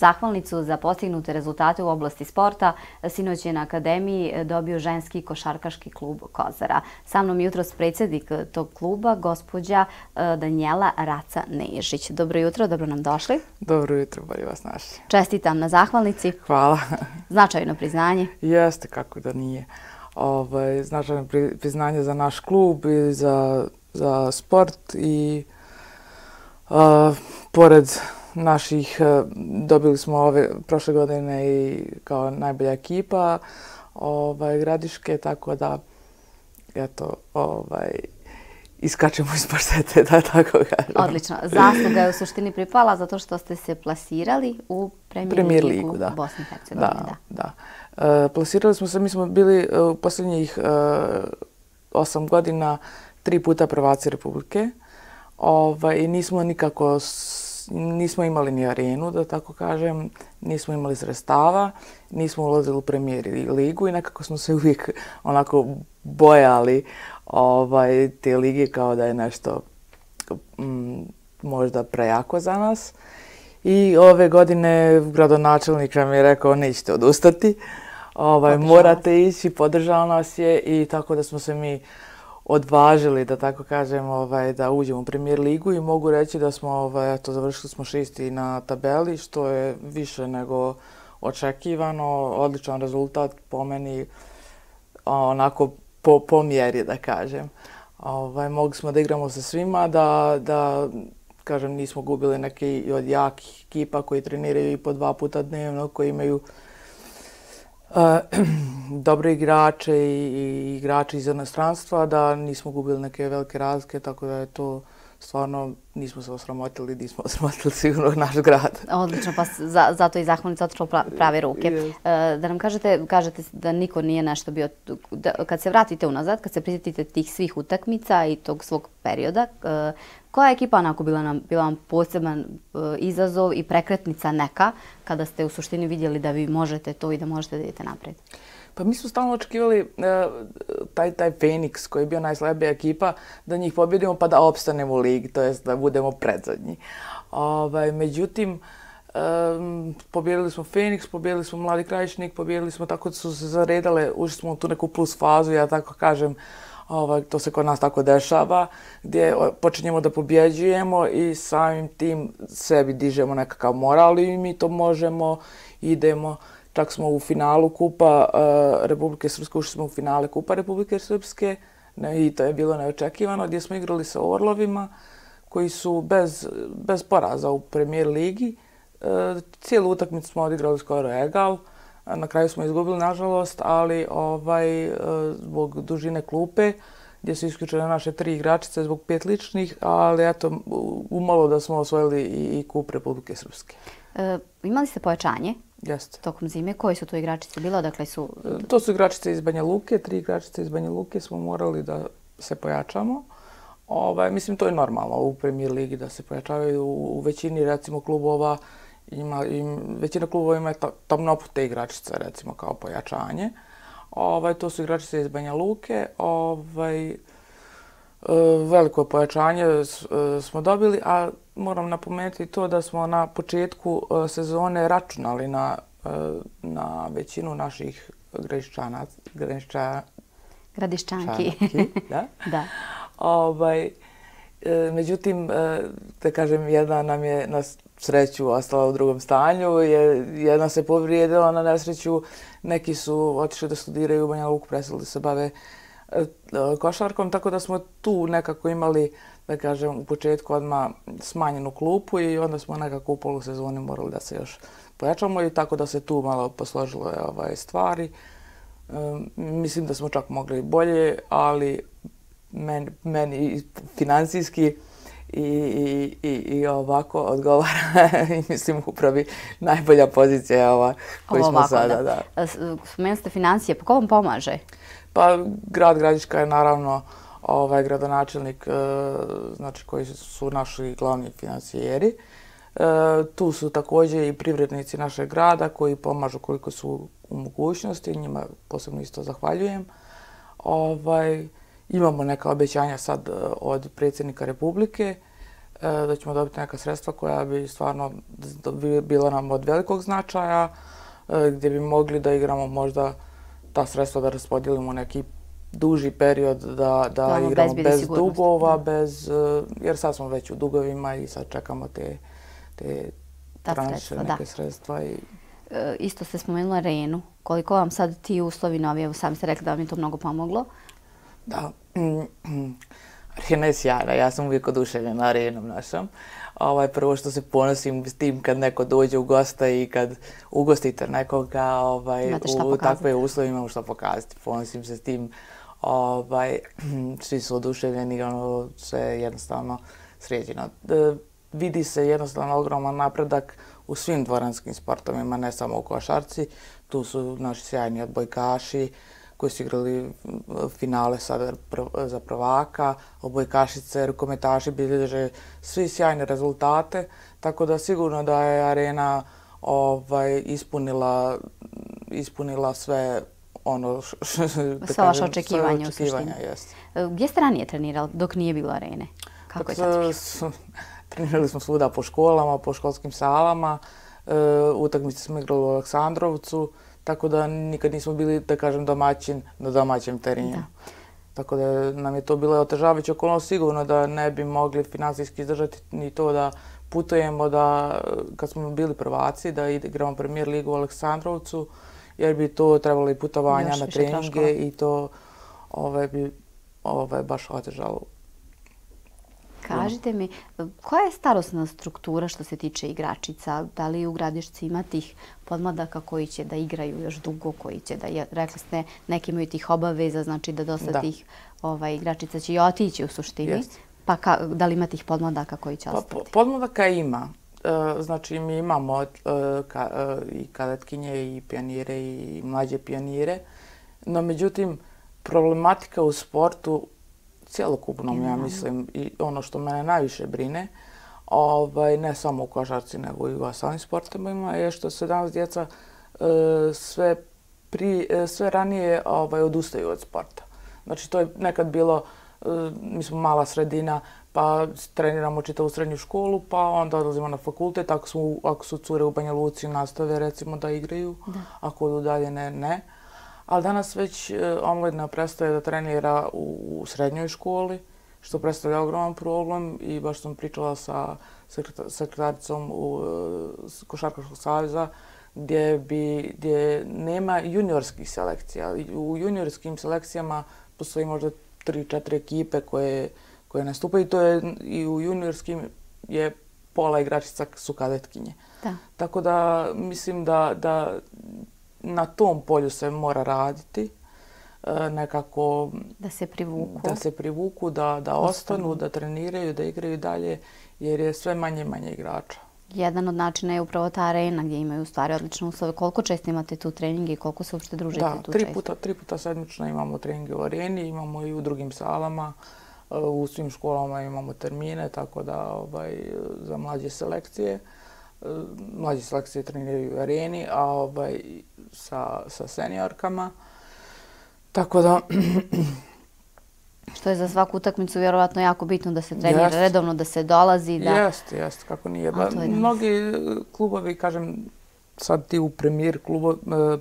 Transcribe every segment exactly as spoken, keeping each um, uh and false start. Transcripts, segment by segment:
Zahvalnicu za postignute rezultate u oblasti sporta sinoć je na Akademiji dobio ženski košarkaški klub Kozara. Sa mnom jutros predsjednik tog kluba, gospođa Danijela Raca-Nežić. Dobro jutro, dobro nam došli. Dobro jutro, bolje vas našli. Čestitam na zahvalnici. Hvala. Značajno priznanje. Jeste, kako da nije. Ovaj, značajno priznanje za naš klub i za, za sport i a, pored naših, dobili smo ove prošle godine i kao najbolja ekipa ovaj, Gradiške, tako da eto, ovaj, iskačemo iz paštete, da tako kažem. Odlično. Zasluga je u suštini pripala zato što ste se plasirali u Premier ligu da. Bosne i Hercegovine. Da, da. da. E, plasirali smo se, mi smo bili u posljednjih e, osam godina tri puta prvaci Republike. Ovaj, i nismo nikako, nismo imali ni arenu, da tako kažem, nismo imali sredstava, nismo ulazili u Premier ligu i nekako smo se uvijek onako bojali ovaj, te lige kao da je nešto m, možda prejako za nas. I ove godine gradonačelnik nam je rekao nećete odustati, ovaj, morate ići, podržao nas je i tako da smo se mi odvažili, da tako kažem, ovaj, da uđemo u Premier ligu i mogu reći da smo, ovaj, eto, završili smo šesti na tabeli, što je više nego očekivano, odličan rezultat po meni, onako po, po mjeri, da kažem. Ovaj, mogli smo da igramo sa svima, da, da kažem, nismo gubili neke od jakih ekipa koji treniraju i po dva puta dnevno, koji imaju Uh, dobre igrače i, i igrače iz inostranstva, da nismo gubili neke velike razlike, tako da je to stvarno, nismo se osramotili, nismo osramotili sigurno naš grad. Odlično, pa za, zato i zahvalnica otišla u prave ruke. Yes. Uh, da nam kažete, kažete da niko nije nešto bio, da, kad se vratite unazad, kad se prisjetite tih svih utakmica i tog svog perioda, uh, koja je ekipa onako bila nam, bila vam poseban uh, izazov i prekretnica neka, kada ste u suštini vidjeli da vi možete to i da možete da idete napred? Pa mi smo stalno očekivali uh, taj, taj Feniks koji je bio najslabija ekipa, da njih pobjedimo pa da opstanemo u ligi, to jest da budemo predzadnji. Ovaj, međutim, um, pobjedili smo Feniks, pobjedili smo Mladi Krajišnik, pobjedili smo tako da su se zaredale, ušli smo u tu neku plus fazu, ja tako kažem, ovaj, to se kod nas tako dešava, gdje počinjemo da pobjeđujemo i samim tim sebi dižemo nekakav moral i mi to možemo, idemo. Čak smo u finalu Kupa uh, Republike Srpske, ušli smo u finale Kupa Republike Srpske ne, i to je bilo neočekivano, gdje smo igrali sa Orlovima koji su bez, bez poraza u Premier ligi. Uh, cijelu utakmicu smo odigrali skoro egal, na kraju smo izgubili nažalost, ali ovaj, uh, zbog dužine klupe gdje su isključene naše tri igračice zbog pet ličnih, ali eto, umalo da smo osvojili i, i Kup Republike Srpske. Uh, imali ste pojačanje? Jeste. Tokom zime. Koji su to igračice bile? Odakle su... To su igračice iz Banja Luke. Tri igračice iz Banja Luke smo morali da se pojačamo. Ovaj, mislim, to je normalno u Premier ligi da se pojačavaju. U, u većini, recimo, klubova ima, im, većina klubova ima tamnopute igračice, recimo, kao pojačanje. Ovaj, to su igračice iz Banja Luke. Ovaj, veliko pojačanje smo dobili, a moram napomenuti to da smo na početku sezone računali na, na većinu naših gradišćana, gradišća, gradišćanki. Da? Da. Ovaj, međutim, da kažem, jedna nam je na sreću ostala u drugom stanju, jedna se povrijedila na nesreću, neki su otišli da studiraju u Banja Luku, preselili se bave košarkom, tako da smo tu nekako imali, da kažem, u početku odmah smanjenu klupu i onda smo nekako u polusezoni morali da se još pojačamo i tako da se tu malo posložilo ovaj, stvari. Um, mislim da smo čak mogli bolje, ali meni, meni financijski i, i, i, i ovako odgovara i mislim upravi najbolja pozicija je ova koju smo sada. Da. Da. Spomenuli ste financije, pa ko vam pomaže? Pa grad Gradiška je naravno ovaj gradonačelnik, znači koji su naši glavni financijeri. Tu su također i privrednici našeg grada koji pomažu koliko su u mogućnosti, njima posebno isto zahvaljujem. Ovaj, imamo neka obećanja sad od predsjednika Republike da ćemo dobiti neka sredstva koja bi stvarno bila nam od velikog značaja, gdje bi mogli da igramo možda ta sredstva da raspodijelimo neki duži period, da, da igramo bez dugova, bez, jer sad smo već u dugovima i sad čekamo te, te tranše, neke sredstva. I... Isto ste spomenuli arenu. Koliko vam sad ti uslovi novi, evo sami ste rekli da vam je to mnogo pomoglo? Da, arena je sjajna, ja sam uvijek oduševljena arenom našom. Ovaj, prvo što se ponosim s tim kad neko dođe u gosta i kad ugostite nekoga ovaj, u takve uslove imamo što pokazati. Ponosim se s tim. Ovaj, svi su oduševljeni, ono, sve je jednostavno sređeno. E, vidi se jednostavno ogroman napredak u svim dvoranskim sportovima, ne samo u košarci. Tu su naši sjajni odbojkaši koji su igrali finale sada za prvaka, odbojkašice, rukometaši bilježe svi sjajne rezultate, tako da sigurno da je arena ovaj, ispunila, ispunila sve ono što... Sva vaša očekivanja u suštini. Gdje ste ranije trenirali dok nije bilo arene? Kako je sad bilo? Trenirali smo svuda po školama, po školskim salama, utakmice smo igrali u Aleksandrovcu, tako da nikad nismo bili, da kažem, domaćin na domaćem terenu. Tako da nam je to bilo otežavajuće okolnost, sigurno da ne bi mogli finansijski izdržati ni to da putujemo, da kad smo bili prvaci, da igramo Premier ligu u Aleksandrovcu, jer bi to trebalo i putovanja na treninge i to bi baš otežalo. Kažite mi, koja je starosna struktura što se tiče igračica? Da li u Gradišci ima tih podmladaka koji će da igraju još dugo, koji će da, rekli ste, neki imaju tih obaveza, znači da dosta tih igračica će i otići u suštini. Pa da li ima tih podmladaka koji će ostati? Podmladaka ima. Znači mi imamo i kadetkinje i pionire i mlađe pionire, no međutim problematika u sportu cijelokupnom, ja mislim, i ono što mene najviše brine, ne samo u košarci, nego i u ostalim sportovima, je što se danas djeca sve ranije odustaju od sporta. Znači, to je nekad bilo, mi smo mala sredina, pa treniramo čitavu srednju školu, pa onda odlazimo na fakultet, ako su cure u Banja Luci nastave, recimo, da igraju, ako odu dalje, ne, ne. Ali danas već omladina prestaje da trenira u srednjoj školi, što predstavlja ogroman problem i baš sam pričala sa sekretaricom Košarkaškog saveza gdje nema juniorskih selekcija. U juniorskim selekcijama postoji možda tri četiri ekipe koje nastupaju i u juniorskim je pola igračica su kadetkinje. Tako da mislim da na tom polju se mora raditi, nekako... Da se privuku. Da se privuku, da ostanu, da treniraju, da igraju dalje, jer je sve manje i manje igrača. Jedan od načina je upravo ta arena gdje imaju u stvari odlične uslove. Koliko često imate tu treninge i koliko se uopšte družite tu često? Da, tri puta sedmično imamo treninge u areni, imamo i u drugim salama, u svim školama imamo termine, tako da za mlađe selekcije. Mlađe selekcije treniraju u areni, a sa seniorkama. Tako da... Što je za svaku utakmicu vjerovatno jako bitno da se trenira redovno, da se dolazi. Jeste, jeste, kako nije. Mnogi klubovi, kažem, sad ti u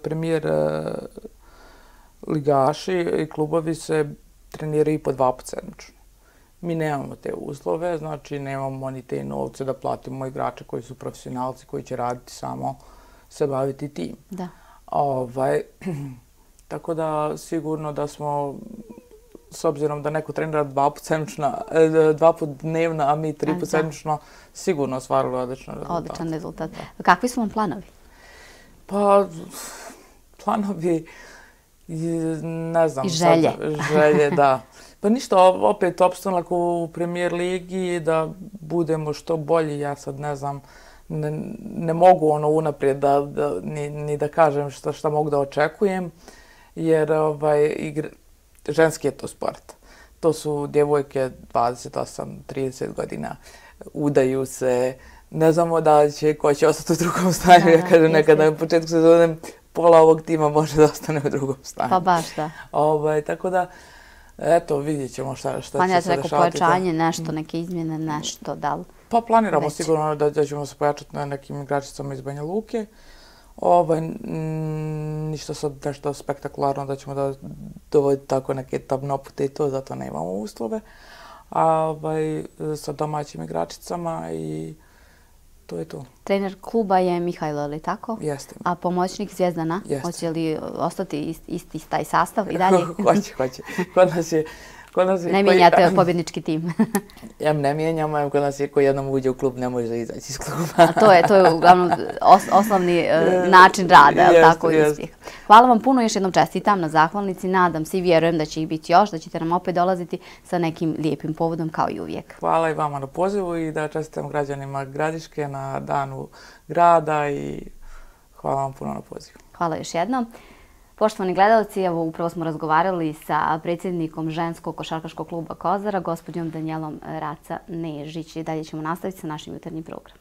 premijer ligaši i klubovi se treniraju i po dva put sedmično. Mi nemamo te uslove, znači nemamo ni te novce da platimo igrače koji su profesionalci, koji će raditi samo se baviti tim. Da. Tako da sigurno da smo, s obzirom da neko trenira dva put sedmično, dva put dnevno, a mi tri put sedmično, sigurno ostvarili odličan rezultat. Odličan rezultat. Kakvi su vam planovi? Pa, planovi, ne znam. I želje. Želje, da. Pa ništa, opet opstanak u Premier ligi, da budemo što bolji, ja sad ne znam, ne mogu ono unaprijed ni da kažem šta mogu da očekujem, jer ženski je to sport. To su djevojke dvadeset osam trideset godina, udaju se, ne znamo da će, ko će ostati u drugom stanju, ja kažem nekada na početku sezone pola ovog tima može da ostane u drugom stanju. Pa baš da. Tako da, Eto, vidjet ćemo šta, šta će se Planirate dešavati. neko pojačanje, nešto, neke izmjene, nešto, da li? Pa planiramo Već. sigurno da, da ćemo se pojačati na nekim igračicama iz Banja Luke. Ovaj, m, ništa sad nešto spektakularno da ćemo da dovoditi tako neke tabnopute i to, zato nemamo uslove. A ovaj, sa domaćim igračicama i to je to. Trener kluba je Mihajlo, ali tako? Jeste. A pomoćnik Zvijezdana? Jeste. Hoće li ostati isti, isti taj sastav i dalje? Hoće, hoće. Kod nas je... Kod nas je Ne koji- mijenjate pobjednički tim. Em ne mijenjamo, em kod nas je ko jednom uđe u klub ne može izaći iz kluba. A to je, to je uglavnom os, osnovni e, način rada, je li Jeste, tako, i jeste. uspjeh. Hvala vam puno, još jednom čestitam na zahvalnici, nadam se i vjerujem da će ih biti još, da ćete nam opet dolaziti sa nekim lijepim povodom kao i uvijek. Hvala i vama na pozivu i da čestitam građanima Gradiške na danu grada i hvala vam puno na pozivu. Hvala još jednom. Poštovani gledalci, evo upravo smo razgovarali sa predsjednikom ženskog košarkaškog kluba Kozara, gospođom Danijelom Raca Nežić. I dalje ćemo nastaviti sa našim jutarnjim programom.